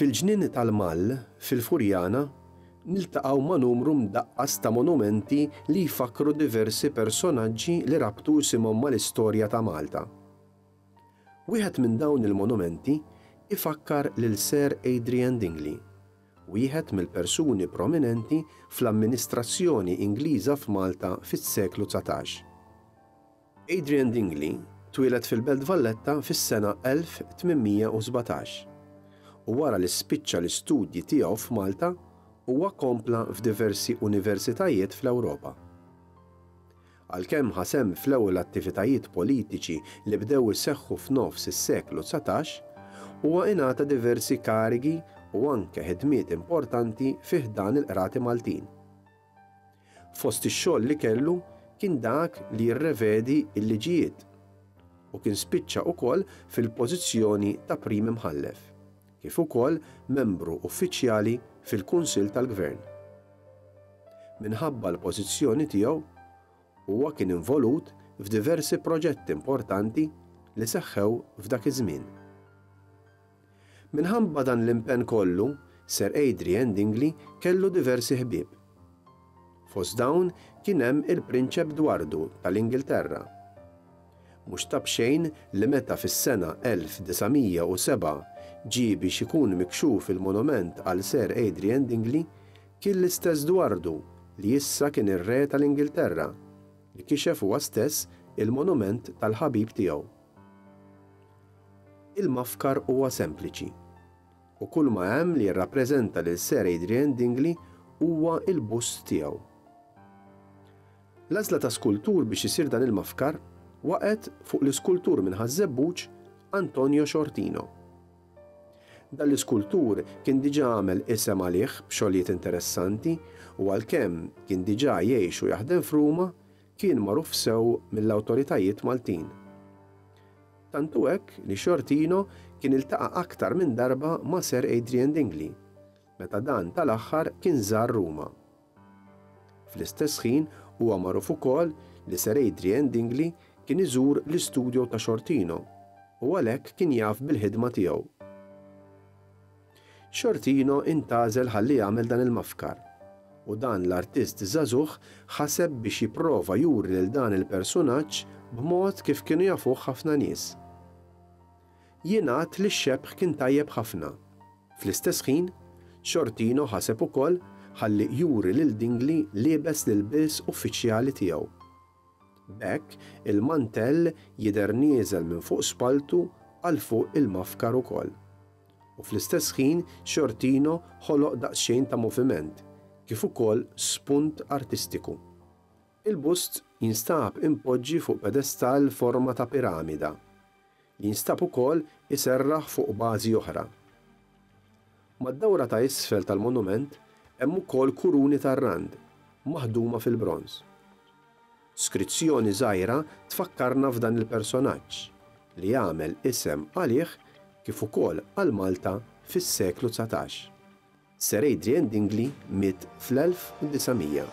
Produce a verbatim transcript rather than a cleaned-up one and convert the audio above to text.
Fil-ġnien tal-Mall, fil-Furjana, niltaqgħu ma' numru mdaqqas ta' monumenti li jfakkru diversi personaġġi li rabtu isimhom mal-istorja ta' Malta. Wieħed minn dawn il-monumenti ifakkar lil Sir Adrian Dingley, wieħed mill-persuni prominenti fl-amministrazzjoni Ingliża f'Malta fis-seklu dsatax. Adrian Dingley twieled fil-Belt Valletta fis-sena elf tmien mija u sbatax u wara li spiċċa l-istudji tiegħu f'Malta, huwa kompla f'diversi universitajiet fl-Ewropa. Għalkemm ħa sehem fl-ewwel attivitajiet politiċi li bdew iseħħu f'nofs is-seklu dsatax, huwa ingħata diversi karigi u anke ħidmiet importanti fi ħdan il-qrati Maltin. Fost ix-xogħol li kellu kien dak li jirrevedi l-liġijiet u kien spiċċa ukoll fil-pożizzjoni ta' prim imħallef, kif ukoll membru uffiċjali fil-Kunsill tal-Gvern. Minħabba l-pożizzjoni tiegħu, huwa kien involut f'diversi proġetti importanti li seħħew f'dak iż-żmien. Minħabba dan l-impenn kollu, Sir Adrian Dingley kellu diversi ħbieb. Fost dawn kien hemm il-Prinċep Dwardu tal-Ingilterra. Mhux ta' b'xejn li meta fis-sena elf disa' mija u sebgħa ġie biex ikun mikxuf il-monument għal Sir Adrian Dingley, kien l-istess Dwardu, li issa kien ir-re tal-Ingilterra, li kixef huwa stess il-monument tal-ħabib tiegħu. Il-mafkar huwa sempliċi u kull ma hemm li jirrappreżenta lil Sir Adrian Dingley huwa il-bust tiegħu. L-għażla ta' skultur biex isir dan il-mafkar waqgħet fuq l-iskultur minn Ħaż-Żebbuġ, Antonio Sciortino. Dan l-iskultur kien diġà għamel isem għalih b'xogħlijiet interessanti u għalkemm kien diġà jgħix u jaħdem f'Ruma, kien magħruf sew mill-awtoritajiet Maltin. Tantu hekk li Sciortino kien iltaqa' aktar minn darba ma' Sir Adrian Dingley, meta dan tal-aħħar kien żar Ruma. Fl-istess ħin, huwa magħruf ukoll li Sir Adrian Dingley kien iżur l-istudjo ta' Sciortino u għalhekk kien jaf bil-ħidma tiegħu. Sciortino intgħażel ħalli jagħmel dan il-mafkar u dan l-artist żagħżugħ ħaseb biex jipprova juri lil dan il-personaġġ b'mod kif kienu jafuh ħafna nies. Jingħad li x-xebh kien tajjeb ħafna. Fl-istess ħin, Sciortino ħaseb ukoll ħalli juri lil Dingley liebes l-ilbies uffiċjali tiegħu. B'hekk il-mantell jidher nieżel minn fuq spaltu għal fuq il-mafkar ukoll. U fl-istess ħin Sciortino ħoloq daqsxejn ta' moviment, kif ukoll spunt artistiku. Il-bust jinstab impoġġi fuq pedestal forma ta' piramida, li jinstab ukoll iserraħ fuq bażi oħra. Mad-dawra ta' isfel tal-monument hemm ukoll kuruni tar-rand maħduma fil-bronż. Skrizzjoni żgħira tfakkarna f'dan il-personaġġ li jagħmel isem għalih kif ukoll għal Malta fis-seklu dsatax. Sir Adrian Dingley miet fl-elf disa' mija.